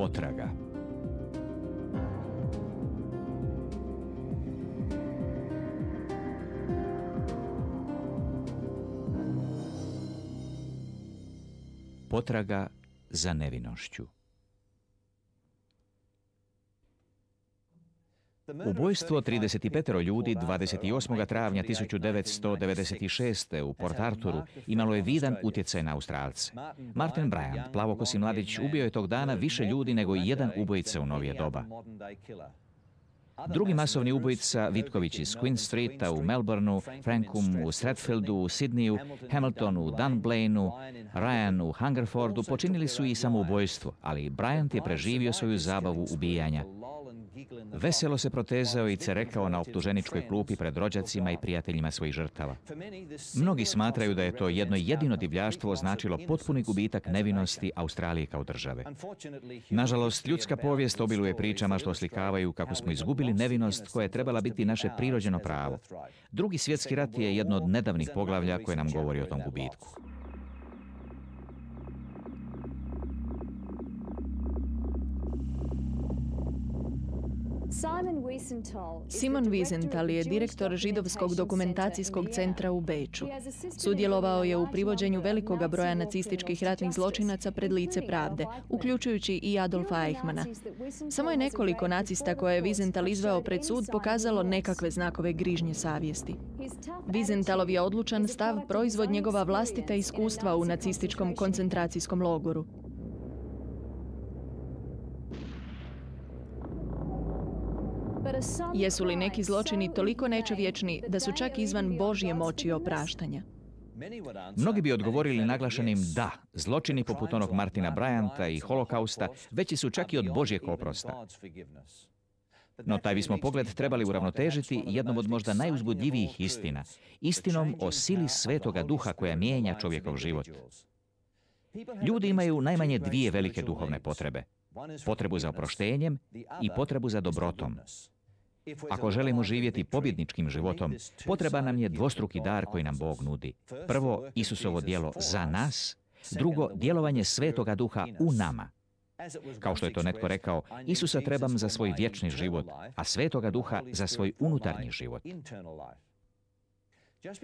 Potraga. Potraga za nevinošću. Ubojstvo 35 ljudi 28. travnja 1996. u Port Arthuru imalo je vidan utjecaj na Australce. Martin Bryant, plavokosi mladić, ubio je tog dana više ljudi nego i jedan ubojica u novije doba. Drugi masovni ubojica, Vitković iz Queen Streeta u Melbourneu, Frankum u Stratfieldu u Sydneyu, Hamilton u Dunblainu, Ryan u Hungerfordu počinili su i samoubojstvo, ali Bryant je preživio svoju zabavu ubijanja. Veselo se protezao i cerekao na optuženičkoj klupi pred rođacima i prijateljima svojih žrtava. Mnogi smatraju da je to jedno jedino divljaštvo označilo potpuni gubitak nevinosti Australije kao države. Nažalost, ljudska povijest obiluje pričama što oslikavaju kako smo izgubili nevinost koja je trebala biti naše prirođeno pravo. Drugi svjetski rat je jedno od nedavnih poglavlja koje nam govori o tom gubitku. Simon Wiesenthal je direktor židovskog dokumentacijskog centra u Beču. Sudjelovao je u privođenju velikoga broja nacističkih ratnih zločinaca pred lice pravde, uključujući i Adolfa Eichmana. Samo je nekoliko nacista koje je Wiesenthal izveo pred sud pokazalo nekakve znakove grižnje savjesti. Wiesenthalov je odlučan stav proizvod njegova vlastita iskustva u nacističkom koncentracijskom logoru. Jesu li neki zločini toliko nečovječni da su čak izvan Božje moći opraštanja? Mnogi bi odgovorili naglašenim da, zločini poput onog Martina Bryanta i holokausta veći su čak i od Božjeg oprosta. No taj bismo pogled trebali uravnotežiti jednom od možda najuzbudljivijih istina, istinom o sili Svetoga Duha koja mijenja čovjekov život. Ljudi imaju najmanje dvije velike duhovne potrebe. Potrebu za oproštenjem i potrebu za dobrotom. Ako želimo živjeti pobjedničkim životom, potreban nam je dvostruki dar koji nam Bog nudi. Prvo, Isusovo djelo za nas, drugo, djelovanje Svetoga Duha u nama. Kao što je to netko rekao, Isusa trebam za svoj vječni život, a Svetoga Duha za svoj unutarnji život.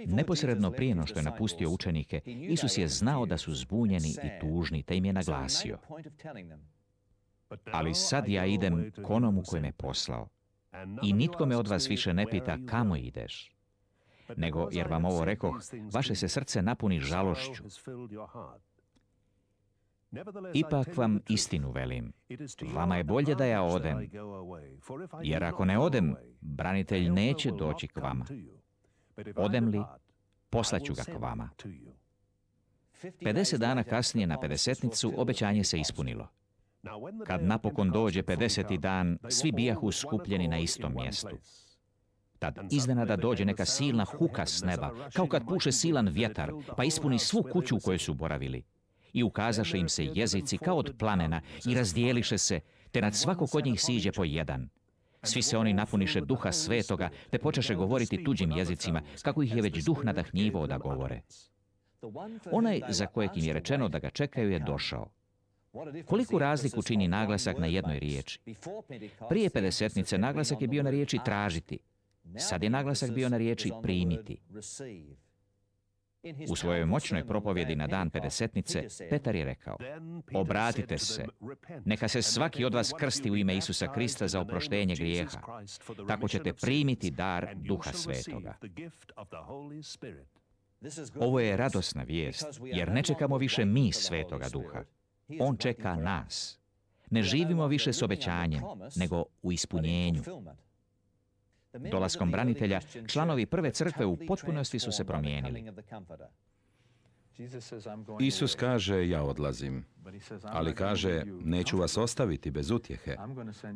Neposredno prije no što je napustio učenike, Isus je znao da su zbunjeni i tužni, te im je naglasio: ali sad ja idem k onomu koji me poslao. I nitko me od vas više ne pita kamo ideš. Nego, jer vam ovo rekoh, vaše se srce napuni žalošću. Ipak vam istinu velim, vama je bolje da ja odem, jer ako ne odem, branitelj neće doći k vama. Odem li, poslaću ga k vama. 50 dana kasnije na pedesetnicu obećanje se ispunilo. Kad napokon dođe 50. dan, svi bijahu skupljeni na istom mjestu. Tad iznenada dođe neka silna huka s neba, kao kad puše silan vjetar, pa ispuni svu kuću u kojoj su boravili. I ukazaše im se jezici kao od plamena i razdijeliše se, te nad svakog od njih siđe po jedan. Svi se oni napuniše Duha Svetoga, te počeše govoriti tuđim jezicima, kako ih je već Duh nadahnjivao da govore. Onaj za kojeg im je rečeno da ga čekaju je došao. Koliku razliku čini naglasak na jednoj riječi? Prije pedesetnice naglasak je bio na riječi tražiti. Sad je naglasak bio na riječi primiti. U svojoj moćnoj propovjedi na dan pedesetnice, Petar je rekao: obratite se, neka se svaki od vas krsti u ime Isusa Krista za oproštenje grijeha. Tako ćete primiti dar Duha Svetoga. Ovo je radosna vijest, jer ne čekamo više mi Svetoga Duha. On čeka nas. Ne živimo više s obećanjem, nego u ispunjenju. Dolaskom branitelja, članovi prve crkve u potpunosti su se promijenili. Isus kaže, ja odlazim, ali kaže, neću vas ostaviti bez utjehe,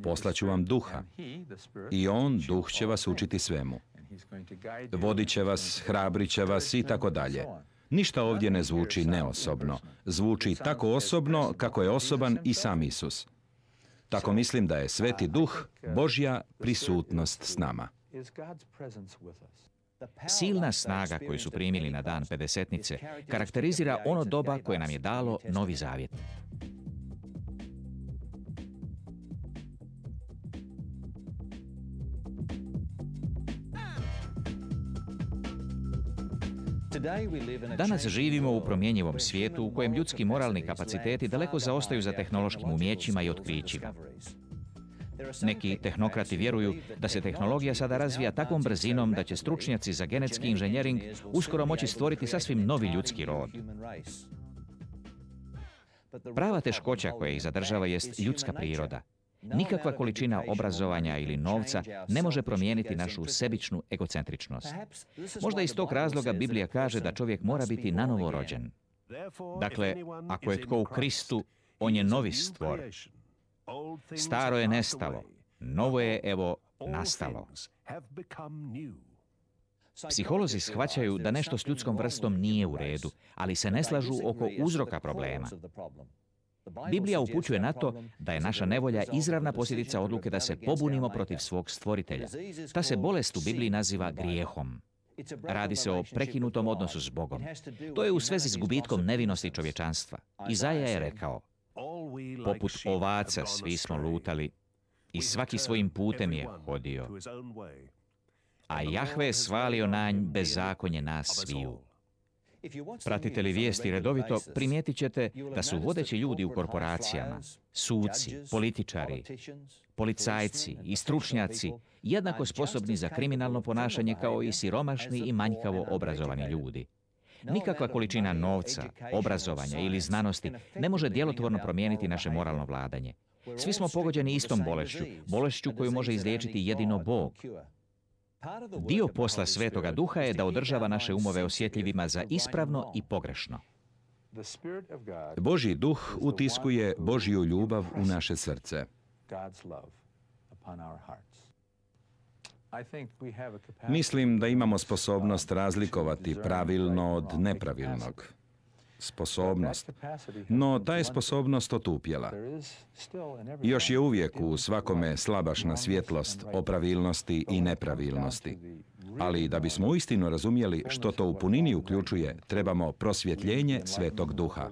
poslaću vam Duha i on, Duh, će vas učiti svemu. Vodit će vas, hrabrit će vas i tako dalje. Ništa ovdje ne zvuči neosobno. Zvuči tako osobno kako je osoban i sam Isus. Tako mislim da je Sveti Duh Božja prisutnost s nama. Silna snaga koju su primili na dan pedesetnice karakterizira ono doba koje nam je dalo Novi Zavjet. Danas živimo u promjenjivom svijetu u kojem ljudski moralni kapaciteti daleko zaostaju za tehnološkim umjećima i otkrićima. Neki tehnokrati vjeruju da se tehnologija sada razvija takvom brzinom da će stručnjaci za genetski inženjering uskoro moći stvoriti sasvim novi ljudski rod. Prava teškoća koja ih zadržava jest ljudska priroda. Nikakva količina obrazovanja ili novca ne može promijeniti našu sebičnu egocentričnost. Možda iz tog razloga Biblija kaže da čovjek mora biti nanovo rođen. Dakle, ako je tko u Kristu, on je novi stvor. Staro je nestalo, novo je, evo, nastalo. Psiholozi shvaćaju da nešto s ljudskom vrstom nije u redu, ali se ne slažu oko uzroka problema. Biblija upućuje na to da je naša nevolja izravna posljedica odluke da se pobunimo protiv svog stvoritelja. Ta se bolest u Bibliji naziva grijehom. Radi se o prekinutom odnosu s Bogom. To je u svezi s gubitkom nevinosti čovječanstva. Izaja je rekao: poput ovaca svi smo lutali i svaki svojim putem je hodio. A Jahve je svalio na nj bezakonje nas sviju. Pratite li vijesti redovito, primijetit ćete da su vodeći ljudi u korporacijama, suci, političari, policajci i stručnjaci jednako sposobni za kriminalno ponašanje kao i siromašni i manjkavo obrazovani ljudi. Nikakva količina novca, obrazovanja ili znanosti ne može djelotvorno promijeniti naše moralno vladanje. Svi smo pogođeni istom bolešću koju može izliječiti jedino Bog. Dio posla Svetoga Duha je da održava naše umove osjetljivima za ispravno i pogrešno. Božji duh utiskuje Božju ljubav u naše srce. Mislim da imamo sposobnost razlikovati pravilno od nepravilnog. Sposobnost. No ta je sposobnost otupjela. Još je uvijek u svakome slabašna svjetlost o pravilnosti i nepravilnosti. Ali da bismo uistinu razumjeli što to u punini uključuje, trebamo prosvjetljenje Svetog Duha.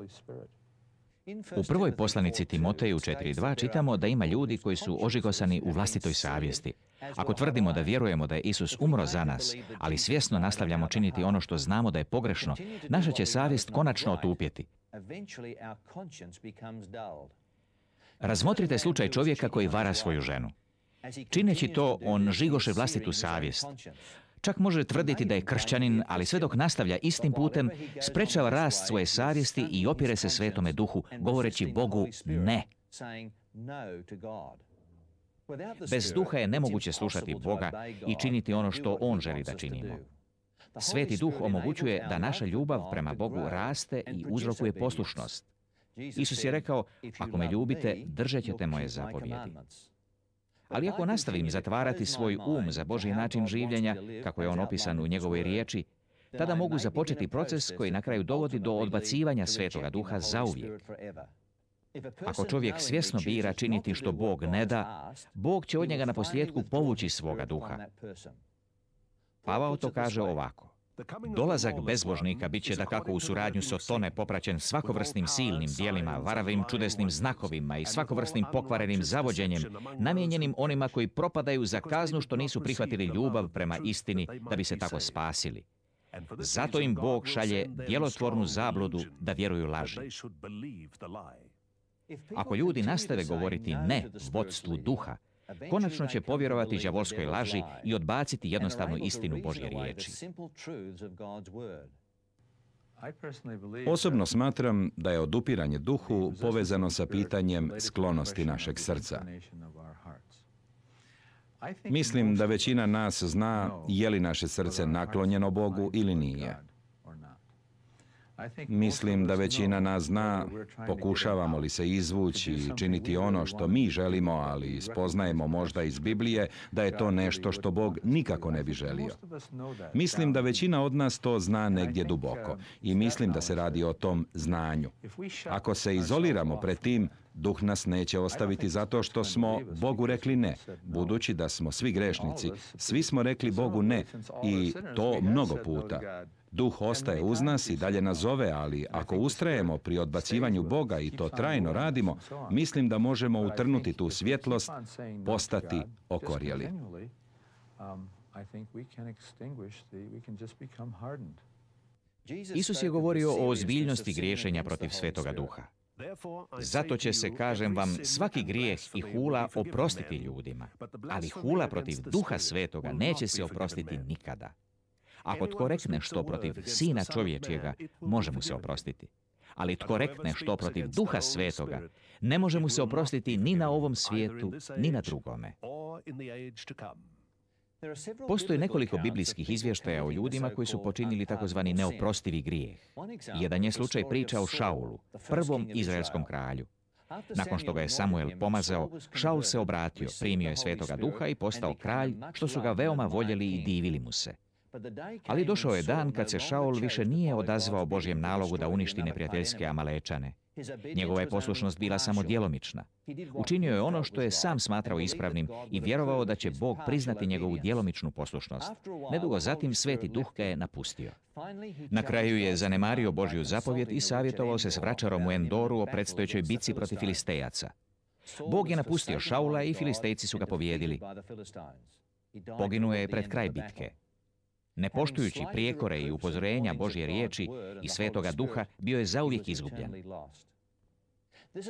U prvoj poslanici Timoteju 4.2 čitamo da ima ljudi koji su ožigosani u vlastitoj savjesti. Ako tvrdimo da vjerujemo da je Isus umro za nas, ali svjesno nastavljamo činiti ono što znamo da je pogrešno, naša će savjest konačno otupjeti. Razmotrite slučaj čovjeka koji vara svoju ženu. Čineći to, on žigoše vlastitu savjest. Čak može tvrditi da je kršćanin, ali sve dok nastavlja istim putem, sprečava rast svoje savjesti i opire se Svetome Duhu, govoreći Bogu ne. Bez duha je nemoguće slušati Boga i činiti ono što On želi da činimo. Sveti Duh omogućuje da naša ljubav prema Bogu raste i uzrokuje poslušnost. Isus je rekao: ako me ljubite, držat ćete moje zapovjedi. Ali ako nastavim zatvarati svoj za Božji način življenja, kako je on opisan u njegovoj riječi, tada mogu započeti proces koji na kraju dovodi do odbacivanja Svetoga Duha zauvijek. Ako čovjek svjesno bira činiti što Bog ne da, Bog će od njega na posljedku povući svoga duha. Pavao to kaže ovako: dolazak bezbožnika bit će dakako u suradnju s Otone popraćen svakovrsnim silnim dijelima, varavim čudesnim znakovima i svakovrsnim pokvarenim zavođenjem, namijenjenim onima koji propadaju za kaznu što nisu prihvatili ljubav prema istini da bi se tako spasili. Zato im Bog šalje djelotvornu zabludu da vjeruju laži. Ako ljudi nastave govoriti ne vodstvu duha, konačno će povjerovati đavolskoj laži i odbaciti jednostavnu istinu Božje riječi. Osobno smatram da je odupiranje duhu povezano sa pitanjem sklonosti našeg srca. Mislim da većina nas zna je li naše srce naklonjeno Bogu ili nije. Mislim da većina nas zna pokušavamo li se izvući i činiti ono što mi želimo, ali spoznajemo možda iz Biblije da je to nešto što Bog nikako ne bi želio. Mislim da većina od nas to zna negdje duboko i mislim da se radi o tom znanju. Ako se izoliramo pred tim, Duh nas neće ostaviti zato što smo Bogu rekli ne, budući da smo svi grešnici. Svi smo rekli Bogu ne i to mnogo puta. Duh ostaje uz nas i dalje nas zove, ali ako ustrajemo pri odbacivanju Boga i to trajno radimo, mislim da možemo utrnuti tu svjetlost, postati okorjeli. Isus je govorio o ozbiljnosti griješenja protiv Svetoga Duha. Zato će se, kažem vam, svaki grijeh i hula oprostiti ljudima, ali hula protiv Duha Svetoga neće se oprostiti nikada. Ako tko rekne što protiv Sina čovječjega, može mu se oprostiti. Ali tko rekne što protiv Duha Svetoga, ne može mu se oprostiti ni na ovom svijetu, ni na drugome. Postoji nekoliko biblijskih izvještaja o ljudima koji su počinili takozvani neoprostivi grijeh. Jedan je slučaj priča o Šaulu, prvom izraelskom kralju. Nakon što ga je Samuel pomazao, Šaul se obratio, primio je Svetoga Duha i postao kralj, što su ga veoma voljeli i divili mu se. Ali došao je dan kad se Šaul više nije odazvao Božjem nalogu da uništi neprijateljske Amalečane. Njegova je poslušnost bila samo djelomična. Učinio je ono što je sam smatrao ispravnim i vjerovao da će Bog priznati njegovu djelomičnu poslušnost. Nedugo zatim Sveti Duh ga je napustio. Na kraju je zanemario Božju zapovjed i savjetovao se s vračarom u Endoru o predstojećoj bitci protiv Filistejaca. Bog je napustio Šaula i Filistejci su ga pobijedili. Poginuo je pred kraj bitke. Ne poštujući prijekore i upozorenja Božje riječi i Svetoga Duha, bio je zauvijek izgubljen.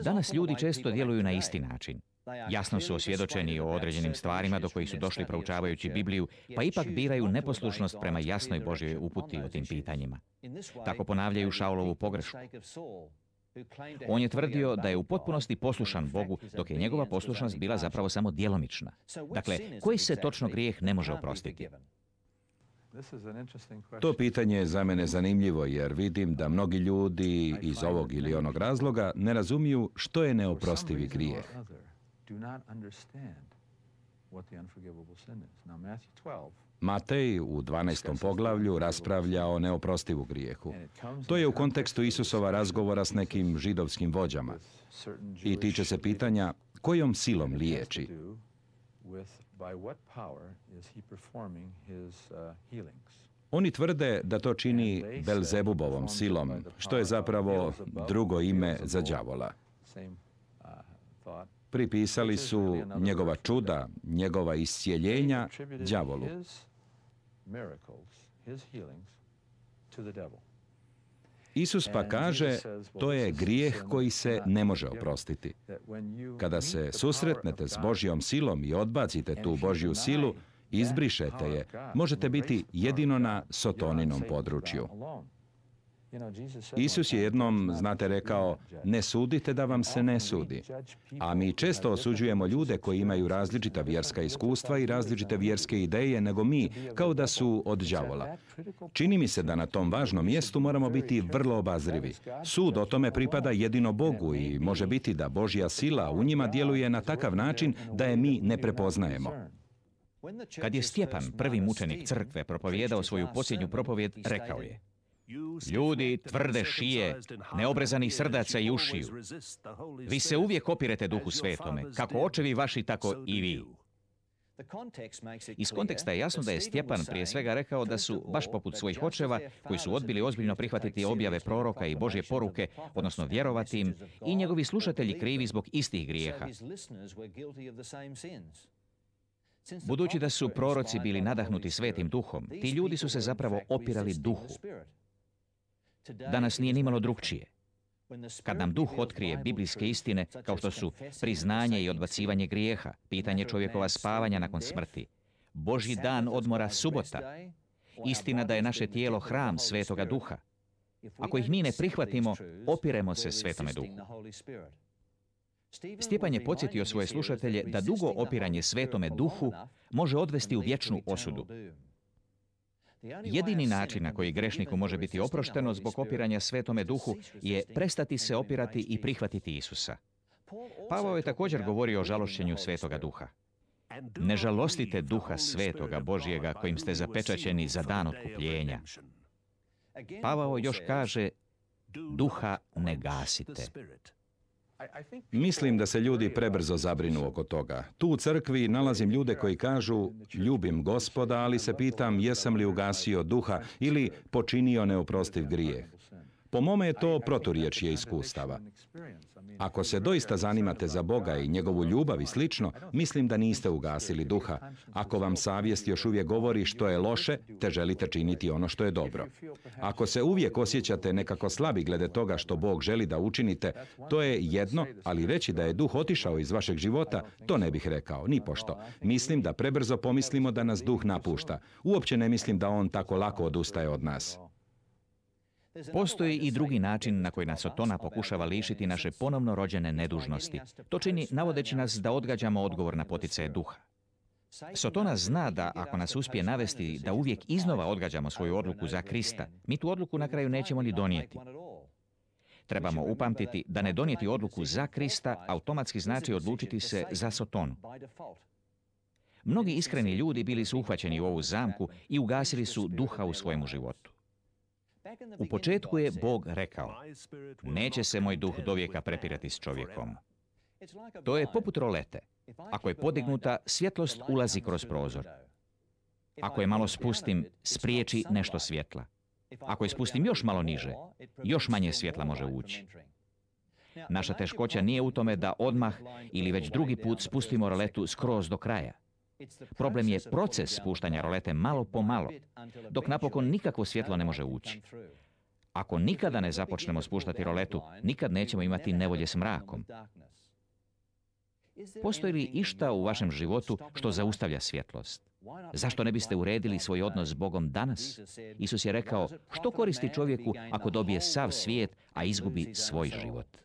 Danas ljudi često djeluju na isti način. Jasno su osvjedočeni o određenim stvarima do kojih su došli proučavajući Bibliju, pa ipak biraju neposlušnost prema jasnoj Božjoj uputi o tim pitanjima. Tako ponavljaju Šaulovu pogrešku. On je tvrdio da je u potpunosti poslušan Bogu, dok je njegova poslušnost bila zapravo samo djelomična. Dakle, koji se točno grijeh ne može oprostiti? To pitanje je za mene zanimljivo jer vidim da mnogi ljudi iz ovog ili onog razloga ne razumiju što je neoprostivi grijeh. Matej u 12. poglavlju raspravlja o neoprostivu grijehu. To je u kontekstu Isusova razgovora s nekim židovskim vođama i tiče se pitanja kojom silom liječi. Oni tvrde da to čini Belzebubovom silom, što je zapravo drugo ime za đavola. Pripisali su njegova čuda, njegova iscijeljenja đavolu. Isus pa kaže, to je grijeh koji se ne može oprostiti. Kada se susretnete s Božjom silom i odbacite tu Božju silu, izbrišete je, možete biti jedino na Sotoninom području. Isus je jednom, znate, rekao, ne sudite da vam se ne sudi. A mi često osuđujemo ljude koji imaju različita vjerska iskustva i različite vjerske ideje nego mi, kao da su od đavola. Čini mi se da na tom važnom mjestu moramo biti vrlo obazrivi. Sud o tome pripada jedino Bogu i može biti da Božja sila u njima djeluje na takav način da je mi ne prepoznajemo. Kad je Stjepan, prvi mučenik crkve, propovijedao svoju posljednju propovjed, rekao je: ljudi tvrde šije, neobrezanih srdaca i ušiju. Vi se uvijek opirete Duhu Svetome, kako očevi vaši, tako i vi. Iz konteksta je jasno da je Stjepan prije svega rekao da su, baš poput svojih očeva, koji su odbili ozbiljno prihvatiti objave proroka i Božje poruke, odnosno vjerovati im, i njegovi slušatelji krivi zbog istih grijeha. Budući da su proroci bili nadahnuti Svetim Duhom, ti ljudi su se zapravo opirali Duhu. Danas nije nimalo drukčije. Kad nam Duh otkrije biblijske istine, kao što su priznanje i odbacivanje grijeha, pitanje čovjekova spavanja nakon smrti, Božji dan odmora subota, istina da je naše tijelo hram Svetoga Duha. Ako ih mi ne prihvatimo, opiremo se Svetome Duhu. Stjepan je podsjetio svoje slušatelje da dugo opiranje Svetome Duhu može odvesti u vječnu osudu. Jedini način na koji grešniku može biti oprošteno zbog opiranja Svetome Duhu je prestati se opirati i prihvatiti Isusa. Pavao je također govorio o žalošćenju Svetoga Duha. Ne žalostite Duha Svetoga Božjega kojim ste zapečaćeni za dan otkupljenja. Pavao još kaže, Duha ne gasite. Mislim da se ljudi prebrzo zabrinu oko toga. Tu u crkvi nalazim ljude koji kažu, ljubim Gospoda, ali se pitam jesam li ugasio duha ili počinio neoprostiv grijeh. Po mome je to proturječje iskustava. Ako se doista zanimate za Boga i njegovu ljubav i slično, mislim da niste ugasili duha. Ako vam savjest još uvijek govori što je loše, te želite činiti ono što je dobro. Ako se uvijek osjećate nekako slabi glede toga što Bog želi da učinite, to je jedno, ali reći da je duh otišao iz vašeg života, to ne bih rekao, nipošto. Mislim da prebrzo pomislimo da nas duh napušta. Uopće ne mislim da on tako lako odustaje od nas. Postoji i drugi način na koji nas Sotona pokušava lišiti naše ponovno rođene nedužnosti. To čini navodeći nas da odgađamo odgovor na poticaje duha. Sotona zna da ako nas uspije navesti da uvijek iznova odgađamo svoju odluku za Krista, mi tu odluku na kraju nećemo ni donijeti. Trebamo upamtiti da ne donijeti odluku za Krista automatski znači odlučiti se za Sotonu. Mnogi iskreni ljudi bili su uhvaćeni u ovu zamku i ugasili su duha u svojemu životu. U početku je Bog rekao: neće se moj duh dovijeka prepirati s čovjekom. To je poput rolete. Ako je podignuta, svjetlost ulazi kroz prozor. Ako je malo spustim, spriječi nešto svjetla. Ako je spustim još malo niže, još manje svjetla može ući. Naša teškoća nije u tome da odmah ili već drugi put spustimo roletu skroz do kraja. Problem je proces spuštanja rolete malo po malo, dok napokon nikakvo svjetlo ne može ući. Ako nikada ne započnemo spuštati roletu, nikad nećemo imati nevolje s mrakom. Postoji li išta u vašem životu što zaustavlja svjetlost? Zašto ne biste uredili svoj odnos s Bogom danas? Isus je rekao: što koristi čovjeku ako dobije sav svijet, a izgubi svoj život?